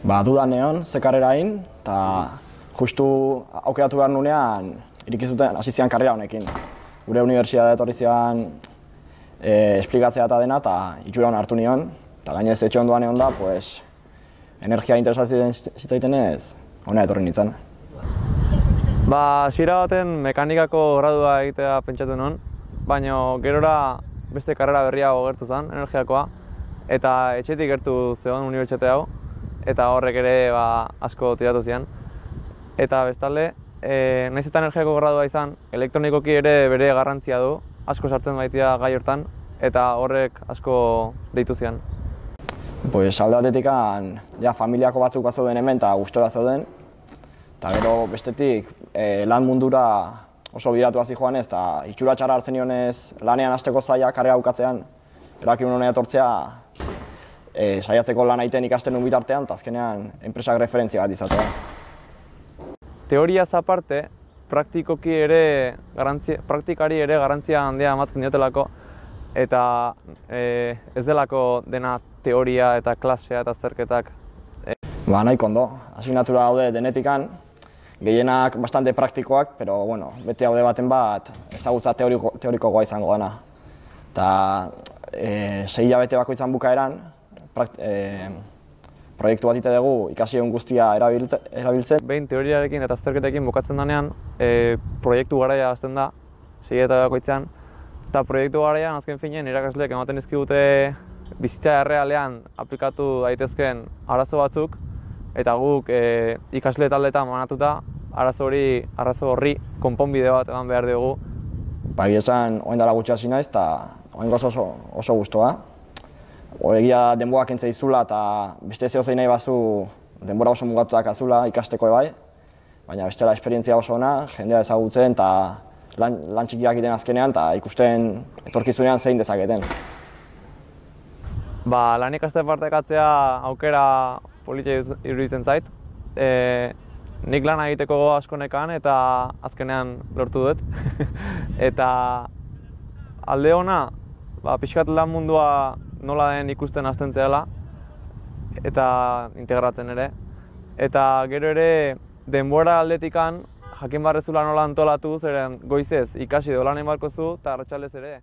Dudan neon, ze karrera egin, eta justu aukeratu behar nunean irikizuten hasi zian karrera honekin. Gure unibertsitatea etorri zian esplikatzea eta dena, eta itxura hona hartu nion, eta gainez etxe ondoan egon da, pues, energia interesatzen zitzaitenez, hona etorri nintzen. Hasiera baten mekanikako gradua egitea pentsatu nuen, baina gerora beste karrera berriago gertu zen, energiakoa, eta etxetik gertu zegoen unibertsitate hau, eta horrek ere asko tiratu zian. Eta bestalde, nahiz eta energiako gradua izan, elektronikoki ere bere garrantzia du, asko sartzen baitia gai hortan, eta horrek asko deitu zian. Alde batetik, familiako batzuk bat zeuden hemen eta gustora zeuden, eta gero bestetik lan mundura oso biratu hasi joanez, eta itxura txarra hartzen nionez lanean hasteko zaila karrera bukatzean, erabaki nuen honea etortzea saiatzeko lan egiten ikasten nuen bitartean, eta azkenean enpresak referentzia bat izatea. Teoriaz aparte, praktikari ere garrantzia handia ematen diotelako, eta ez delako dena teoria eta klasea eta azterketak. Nahiko ondo, asignatura daude denetikan, gehienak bastante praktikoak, pero bete daude baten bat ezagutza teorikoagoa izango dena. Eta 6 hilabete bakoitzan bukaeran, proiektu bat ite dugu ikasi egun guztia erabiltzen. Behin teoriarekin eta azterketekin bukatzen denean, proiektu garaia hasten da, 6 hilabete bakoitzean, eta proiektu garaian azken finean irakasleek ematen dizkigute bizitza errealean aplikatu daitezkeen arazo batzuk, eta guk ikasle taldeetan banatuta arazo horri konponbide bat eman behar dugu. Egia esan, orain dela gutxi hasi naiz, eta oraingoz oso gustoa. Egia denbora kentzen dizula eta beste zeozein nahi bazu denbora oso mugatuak azula ikasteko bai, baina bestela esperientzia oso ona, jendea ezagutzen eta lan txikiak egiten azkenean eta ikusten etorkizunean zein dezaketen. Lan ikaste partekatzea aukera politia iruditzen zait. Nik lan egiteko asko nekan eta azkenean lortu dut. Eta alde ona, pixkat lan mundua nola den ikusten hasten zela eta integratzen ere. Eta gero ere denbora aldetikan jakin barrezula nola antolatu, zeren goizez ikasi edo lan egin beharko zu eta arratsaldez ere.